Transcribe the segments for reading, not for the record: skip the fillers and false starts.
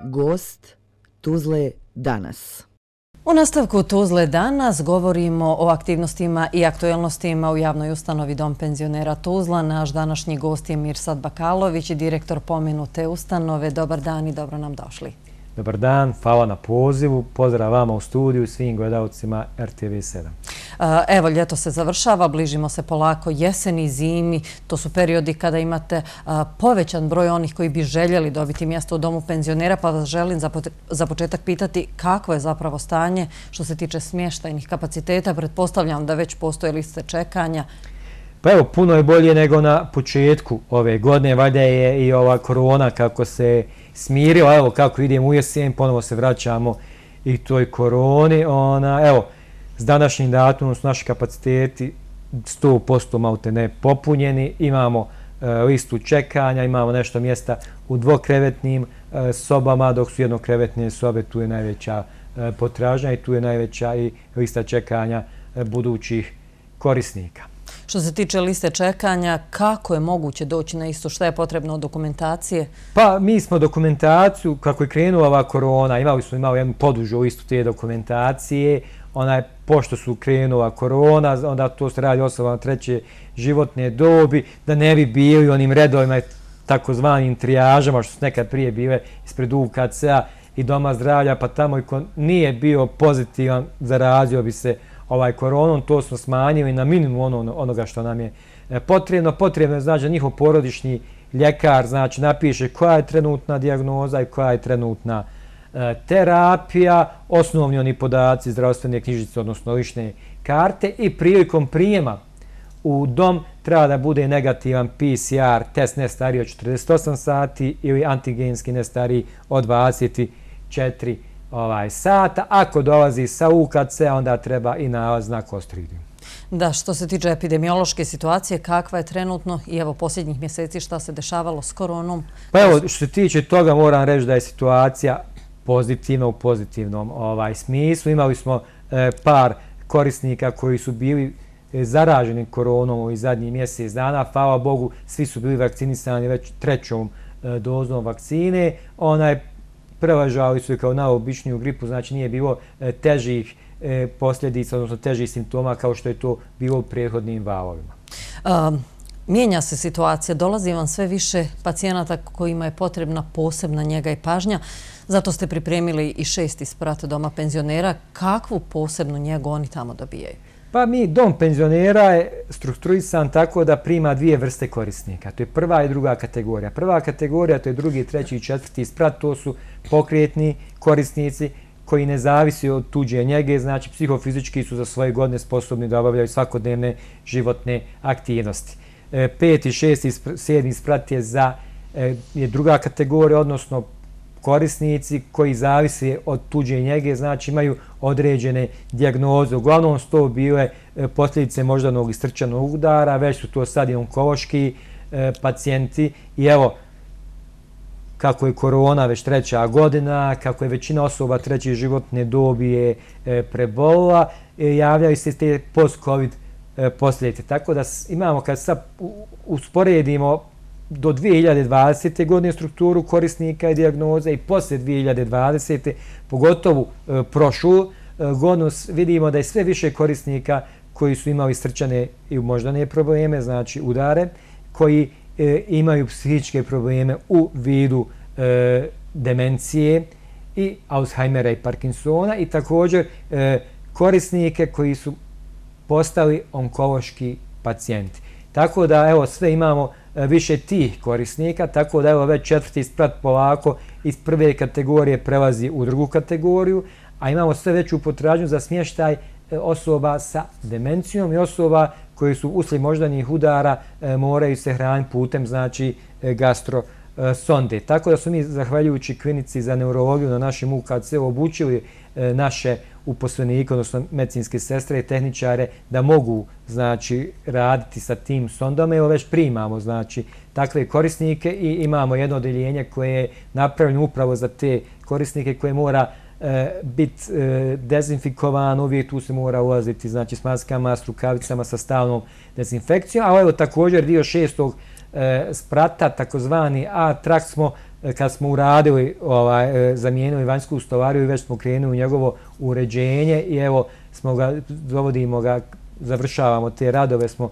Gost Tuzle danas. U nastavku Tuzle danas govorimo o aktivnostima i aktuelnostima u javnoj ustanovi Dom penzionera Tuzla. Naš današnji gost je Mirsad Bakalović, direktor pomenute ustanove. Dobar dan i dobro nam došli. Dobar dan, hvala na pozivu, pozdrav vama u studiju i svim gledalcima RTV7. Evo, ljeto se završava, bližimo se polako jeseni i zimi. To su periodi kada imate povećan broj onih koji bi željeli dobiti mjesto u Domu penzionera, pa vas želim za početak pitati kako je zapravo stanje što se tiče smještajnih kapaciteta. Pretpostavljam da već postoje liste čekanja. Pa evo, puno je bolje nego na početku ove godine. Valjda je i ova korona kako se smirila, evo kako idemo u jesen, ponovo se vraćamo i toj koroni. Evo, s današnjim datumom su naši kapaciteti 100% maltene popunjeni, imamo listu čekanja, imamo nešto mjesta u dvokrevetnim sobama, dok su jednokrevetne sobe, tu je najveća potražnja i tu je najveća i lista čekanja budućih korisnika. Što se tiče liste čekanja, kako je moguće doći na isto? Šta je potrebno od dokumentacije? Pa mi smo dokumentaciju, kako je krenula ova korona, imali jednu podužu listu te dokumentacije, pošto su krenula korona, onda to se radi osobama treće životne dobi, da ne bi bili onim redovima takozvanim trijažama, što su nekad prije bile ispred UKC-a i Doma zdravlja, pa tamo i ko nije bio pozitivan, zarazio bi se koronom, to smo smanjili na minimum onoga što nam je potrebno. Potrebno je znači da njihov porodični ljekar znači napiše koja je trenutna dijagnoza i koja je trenutna terapija, osnovni oni podaci zdravstvene knjižice, odnosno lične karte, i prilikom prijema u dom treba da bude negativan PCR test ne stariji od 48 sati ili antigenski ne stariji od 24 sata. Ako dolazi sa UKC, onda treba i nalaz na Kostriginu. Da, što se tiče epidemiološke situacije, kakva je trenutno i evo posljednjih mjeseci šta se dešavalo s koronom? Pa evo, što se tiče toga moram reći da je situacija pozitivna u pozitivnom smislu. Imali smo par korisnika koji su bili zaraženi koronom ovih zadnjih mjesec dana. Hvala Bogu, svi su bili vakcinisani već trećom dozom vakcine. Prevažali su kao najobičniju gripu, znači nije bilo težih posljedica, odnosno težih simptoma kao što je to bilo u prethodnim valovima. Mijenja se situacija, dolazi vam sve više pacijenata kojima je potrebna posebna njega i pažnja. Zato ste pripremili i 6. sprat Doma penzionera. Kakvu posebnu njegu oni tamo dobijaju? Pa Dom penzionera je strukturisan tako da prima dvije vrste korisnika. To je prva i druga kategorija. Prva kategorija, to je drugi, treći i 4. sprat, to su pokretni korisnici koji ne zavisi od tuđe njege, znači psihofizički su za svoje godine sposobni da obavljaju svakodnevne životne aktivnosti. 5., 6. 7. sprat je druga kategorija, odnosno korisnici koji zavise od tuđe njege, znači imaju određene dijagnoze. Uglavnom su to bile posljedice moždanog i srčanog udara, već su to sad i onkološki pacijenti. I evo, kako je korona već treća godina, kako je većina osoba treće životne dobi je prebolila, javljaju se te post-covid posljedice. Tako da imamo, kad sad usporedimo do 2020. godine strukturu korisnika i dijagnoze i poslije 2020. pogotovo prošlu godinu, vidimo da je sve više korisnika koji su imali srčane i moždane probleme, znači udare, koji imaju psihičke probleme u vidu demencije i Alzheimera i Parkinsona, i također korisnike koji su postali onkološki pacijenti. Tako da evo sve imamo više tih korisnika, tako da evo već 4. sprat polako iz prve kategorije prelazi u drugu kategoriju, a imamo sve veću potražnju za smještaj osoba sa demencijom i osoba koji su uslijed moždanih udara moraju se hraniti putem znači gastrosonde. Tako da su mi, zahvaljujući klinici za neurologiju na našem UKC, obučili naše uposlenike, odnosno medicinske sestre i tehničare, da mogu znači raditi sa tim sondama. Evo već primamo znači takve korisnike i imamo jedno odeljenje koje je napravljeno upravo za te korisnike, koje mora biti dezinfikovan, uvijek tu se mora ulaziti znači s maskama, s rukavicama, sa stalnom dezinfekcijom. A evo također dio 6. sprata, takozvani A-trakt, smo kad smo uradili, zamijenili vanjsku stolariju i već smo krenuli u njegovo uređenje i evo dovodimo ga, završavamo te radove, smo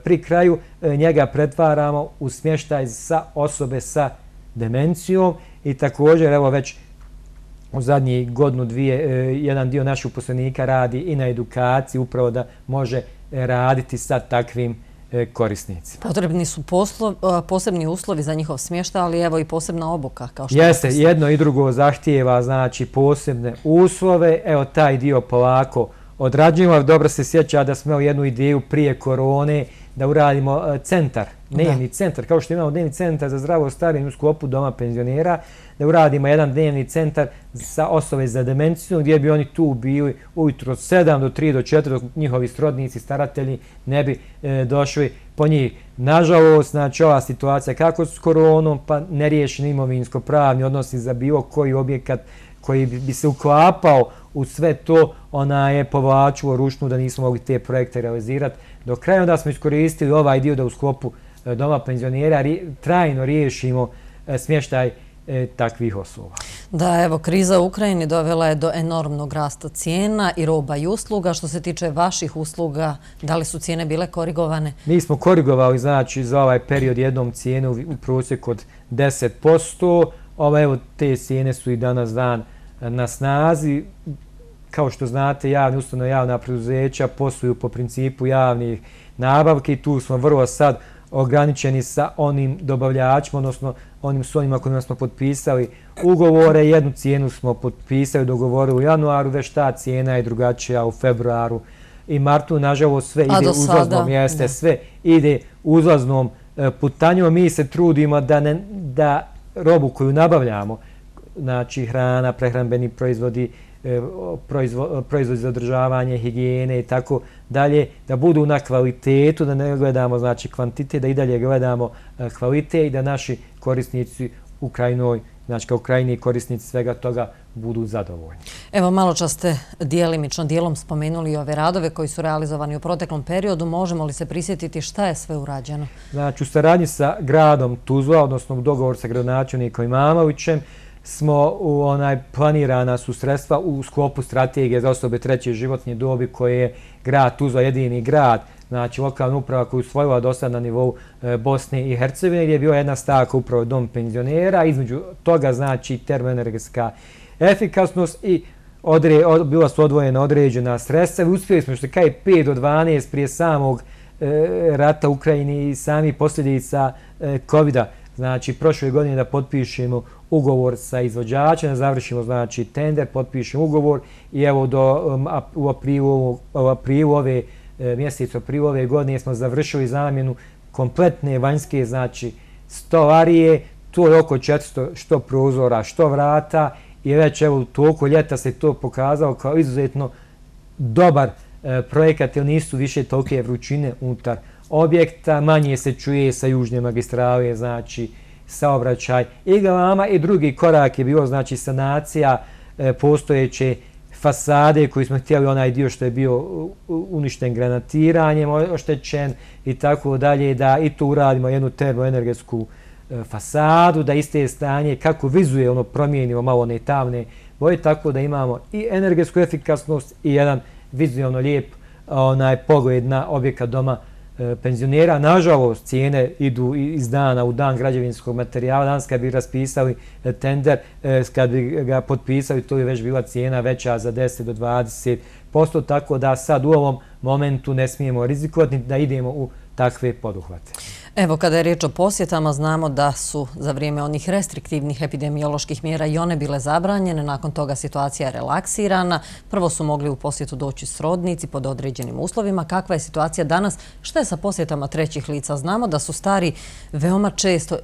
pri kraju, njega pretvaramo u smještaj za osobe sa demencijom i također evo već u zadnjih godinu, dvije, jedan dio naših uposlenika radi i na edukaciji upravo da može raditi sa takvim korisnicima. Potrebni su posebni uslovi za njihov smještaj, ali evo i posebna obuka. Jeste, jedno i drugo zahtijeva znači posebne uslove. Evo taj dio polako odrađujemo. Dobro se sjeća da smo imali jednu ideju prije korone da uradimo centar, dnevni centar, kao što imamo dnevni centar za zdravo starenje u sklopu doma penzionera, da uradimo jedan dnevni centar za osobe za demenciju, gdje bi oni tu bili ujutro od 7 do 3 do 4, dok njihovi srodnici, staratelji ne bi došli po njih. Nažalost, znači ova situacija kako s koronom, pa neriješeni imovinsko-pravni odnosi za bilo koji objekat koji bi se uklapao u sve to, ona je povlačilo ručnu da nismo mogli te projekte realizirati. Do kraja onda smo iskoristili ovaj dio da u sklopu doma penzionera trajno riješimo smještaj takvih osoba. Da, evo, kriza u Ukrajini dovela je do enormnog rasta cijena i roba i usluga. Što se tiče vaših usluga, da li su cijene bile korigovane? Mi smo korigovali, znači, za ovaj period jednom cijenu u prosjeku od 10%. Evo, te cijene su i danas dan na snazi. Kao što znate, javne ustanove, javna preduzeća posluju po principu javnih nabavki. Tu smo vrlo sad ograničeni sa onim dobavljačima, odnosno onim s onima kojima smo potpisali ugovore. Jednu cijenu smo potpisali, dogovorili u januaru, već ta cijena je drugačija u februaru i martu. Nažalost, sve ide uzlaznom, jeste, sve ide uzlaznom putanjom. Mi se trudimo da robu koju nabavljamo, znači hrana, prehrambeni proizvodi, proizvodi za održavanje, higijene i tako dalje, da budu na kvalitetu, da ne gledamo znači kvantitet, da i dalje gledamo kvalitet i da naši korisnici u krajnoj, znači kao krajni korisnici svega toga budu zadovoljni. Evo, malo čas ste dijelom spomenuli ove radove koji su realizovani u proteklom periodu. Možemo li se prisjetiti šta je sve urađeno? Znači, u saradnji sa gradom Tuzla, odnosno u dogovor sa gradonačelnikom Imamovićem, smo planirana su sredstva u sklopu strategije za osobe treće životne dobi koje je grad Tuzla jedini grad, znači lokalna uprava koju usvojila do sada na nivou Bosne i Hercegovine, gdje je bila jedna stavka upravo dom penzionera, između toga znači termoenergetska efikasnost i bila su odvojena određena sredstva. Uspjeli smo što kaj 5 do 12 prije samog rata u Ukrajini i sami posljedica COVID-a. Znači, prošle godine da potpišemo ugovor sa izvođačem, da završimo znači tender, potpišemo ugovor i evo u aprilu ove mjeseca, aprilu ove godine smo završili zamjenu kompletne vanjske znači stolarije. To je oko 400 što prozora, što vrata i već evo toliko ljeta se to pokazalo kao izuzetno dobar projekat, jer nisu više tolike vrućine unutar objekta, manje se čuje sa južne magistrale, znači saobraćaj i galama. I drugi korak je bilo znači sanacija postojeće fasade koji smo htjeli, onaj dio što je bio uništen granatiranjem, oštećen i tako dalje, da i to uradimo jednu termoenergetsku fasadu, da iste stanje kako vizuelno promijenimo malo one tamne boje, tako da imamo i energetsku efikasnost i jedan vizuelno lijep pogled na objekat doma penzionera. Nažalost, cijene idu iz dana u dan građevinskog materijala. Danas kad bi raspisali tender, kad bi ga potpisali, to je već bila cijena veća za 10 do 20%, tako da sad u ovom momentu ne smijemo rizikovati da idemo u takve poduhvate. Evo, kada je riječ o posjetama, znamo da su za vrijeme onih restriktivnih epidemioloških mjera i one bile zabranjene, nakon toga situacija je relaksirana. Prvo su mogli u posjetu doći srodnici pod određenim uslovima. Kakva je situacija danas? Šta je sa posjetama trećih lica? Znamo da su stari veoma često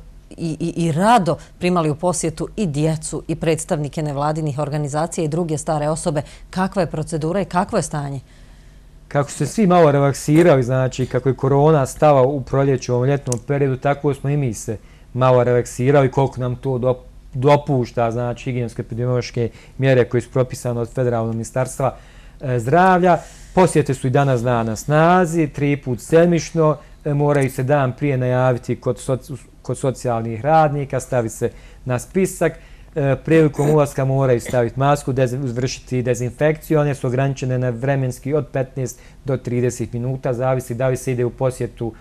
i rado primali u posjetu i djecu i predstavnike nevladinih organizacija i druge stare osobe. Kakva je procedura i kakvo je stanje? Kako su se svi malo relaksirali, znači kako je korona stala u proljeću u ovom ljetnom periodu, tako smo i mi se malo relaksirali, koliko nam to dopušta, znači higijenske epidemiološke mjere koje su propisane od Federalnog ministarstva zdravlja. Posjete su i danas na snazi, 3 put sedmično, moraju se dan prije najaviti kod socijalnih radnika, stavi se na spisak. Prilikom ulaska moraju staviti masku, izvršiti dezinfekciju, one su ograničene na vremenski od 15 do 30 minuta, zavisi da li se ide u posjetu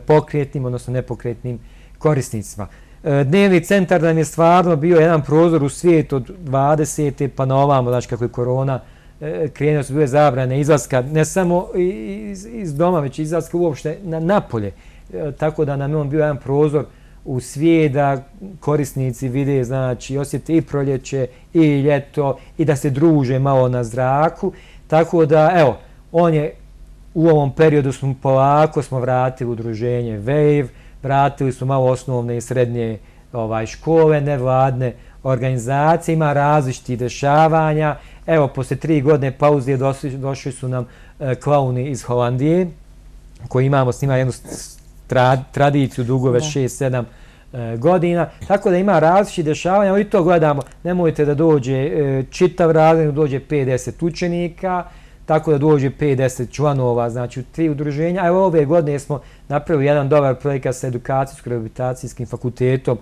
pokretnim, odnosno nepokretnim korisnicima. Dnevni centar nam je stvarno bio jedan prozor u svijet od 20. pa na ovamo, znači kako je korona krenuo, su bile zabrane izlaska, ne samo iz doma, već izlaska uopšte napolje. Tako da nam je on bio jedan prozor u svijet da korisnici vide, znači osjete i proljeće i ljeto i da se druže malo na zraku. Tako da, evo, on je u ovom periodu polako smo vratili udruženje Wave, vratili su malo osnovne i srednje škole, nevladne organizacije, ima različitih dešavanja. Evo, posle 3 godine pauze došli su nam klauni iz Holandije, koji imamo s njima jednu tradiciju dugove 6-7 godina. Tako da ima različitih dešavanja, i to gledamo, nemojte da dođe čitav razred, dođe 50 učenika, tako da dođe 50 članova, znači u 3 udruženja. Evo ove godine smo napravili jedan dobar projekat sa edukacijsko-rehabilitacijskim fakultetom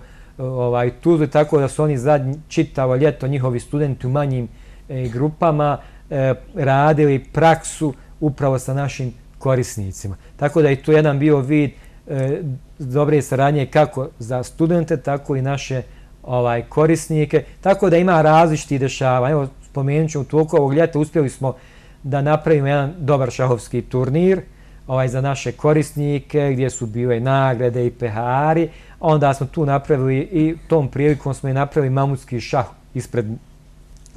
Tuzli, tako da su oni čitavo ljeto njihovi studenti u manjim grupama radili praksu upravo sa našim korisnicima. Tako da je to jedan bio vid dobre saradnje kako za studente, tako i naše korisnike. Tako da ima različitih dešavanja. Evo, spomenut ću, u toku ovog ljeta uspjeli smo da napravimo jedan dobar šahovski turnir za naše korisnike, gdje su bile nagrade i pehari. Onda smo tu napravili i tom prilikom smo i napravili mamutski šah ispred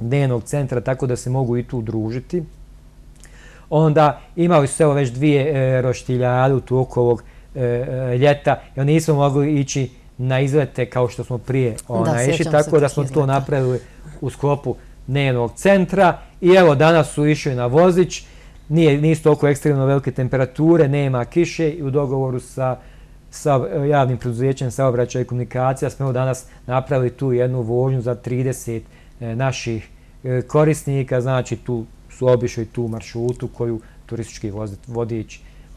dnevnog centra, tako da se mogu i tu družiti. Onda imali su već 2 roštiljade u toku ovog ljeta, jer nismo mogli ići na izlete kao što smo prije išli, tako da smo to napravili u sklopu dnevnog centra. I evo, danas su išli na vozić, nisu toliko ekstremno velike temperature, nema kiše, i u dogovoru sa javnim preduzećem saobraćaja i komunikacija smo danas napravili tu jednu vožnju za 30 naših korisnika, znači tu su obišli tu maršrutu koju turistički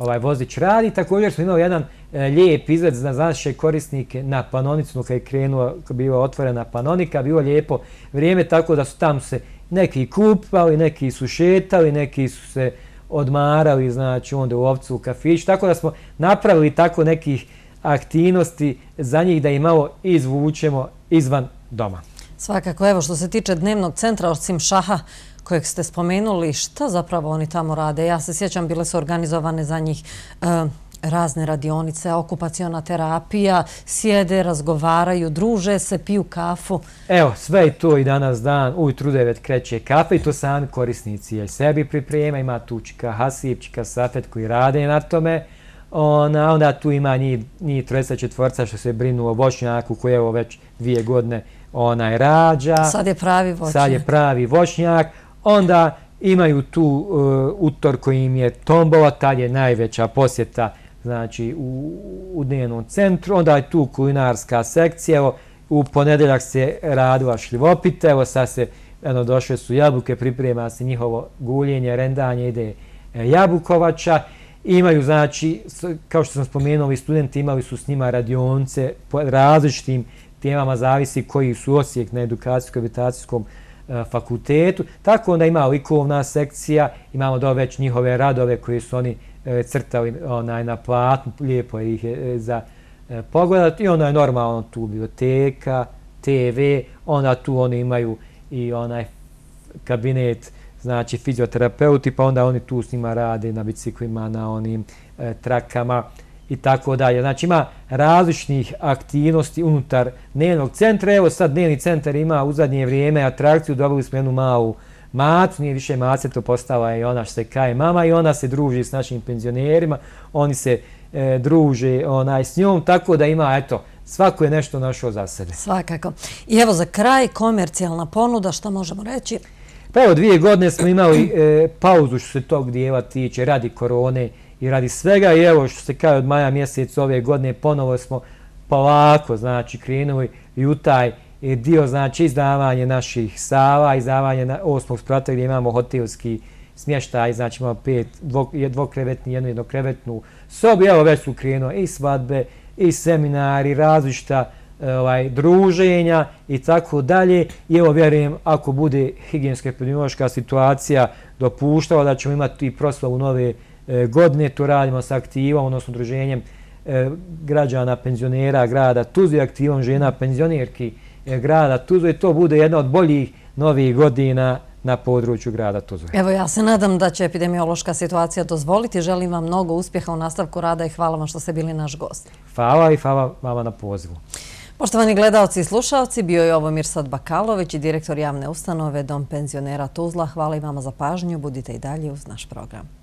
vozić radi. Također smo imali jedan lijep izgled za naše korisnike na Panonicu, kad je bila otvorena Panonika, bilo lijepo vrijeme, tako da su tamo se neki kupali, neki su šetali, neki su se odmarali, znači onda u Ovcu u kafiću, tako da smo napravili tako nekih aktivnosti za njih da ih malo izvučemo izvan doma. Svakako, evo, što se tiče dnevnog centra, osim šaha kojeg ste spomenuli, šta zapravo oni tamo rade? Ja se sjećam, bile su organizovane za njih razne radionice, okupaciona terapija, sjede, razgovaraju, druže se, piju kafu. Evo, sve je to i danas dan, ujutru 9 kreće kafe i to sami korisnici i sebi priprema, ima tu čika Hasip, čika Safet koji rade na tome. Onda tu ima njih 34 što se brinu o voćnjaku koji evo već 2 godine rađa. Sad je pravi voćnjak. Sad je pravi voćnjak. Onda imaju tu utor koji im je tombola, tad je najveća posjeta, znači u dnevnom centru. Onda je tu kulinarska sekcija, evo u ponedeljak se radila šljivopita, evo sad se, došle su jabuke, priprema se njihovo guljenje, rendanje, ide jabukovača. Imaju, znači, kao što sam spomenuo, studenti imali su s njima radionice po različitim temama, zavisi koji su Osijek na edukacijsko-rehabilitacijskom fakultetu. Tako onda ima likovna sekcija, imamo već njihove radove koje su oni crtali na platnu, lijepo ih je za pogledati. I onda je normalno tu biblioteka, TV, onda tu oni imaju i onaj kabinet, znači fizioterapeuti, pa onda oni tu s njima rade na biciklima, na onim trakama i tako dalje. Znači ima različnih aktivnosti unutar dnevnog centra. Evo sad dnevni centar ima u zadnje vrijeme atrakciju, dobili smo jednu malu macu, nije više mace, to postala je ona što se kaje mama i ona se druži s našim penzionerima, oni se druže s njom, tako da ima, eto, svako je nešto našao za sebe. Svakako. I evo za kraj, komercijalna ponuda, šta možemo reći? Pa evo, 2 godine smo imali pauzu što se tog dijela tiče radi korone i radi svega i evo što se kaže od maja mjeseca ove godine ponovo smo polako, znači, krenuli i u taj dio, znači, izdavanje naših sala, izdavanje 8. sprata gdje imamo hotelski smještaj, znači imamo 5 dvokrevetni, jednu jednokrevetnu sobu, evo već su krenuli i svadbe i seminari, različita druženja i tako dalje. I evo vjerujem, ako bude higijenska epidemiološka situacija dopuštala da ćemo imati i proslavu nove godine, to radimo sa aktivom, odnosno udruženjem građana penzionera grada Tuzle, aktivom žena penzionerki grada Tuzle. To bude jedna od boljih novih godina na području grada Tuzle. Evo, ja se nadam da će epidemiološka situacija dozvoliti. Želim vam mnogo uspjeha u nastavku rada i hvala vam što ste bili naš gost. Hvala i hvala vama na pozivu. Poštovani gledalci i slušalci, bio je ovo Mirsad Bakalović i direktor javne ustanove Dom penzionera Tuzla. Hvala i vama za pažnju. Budite i dalje uz naš program.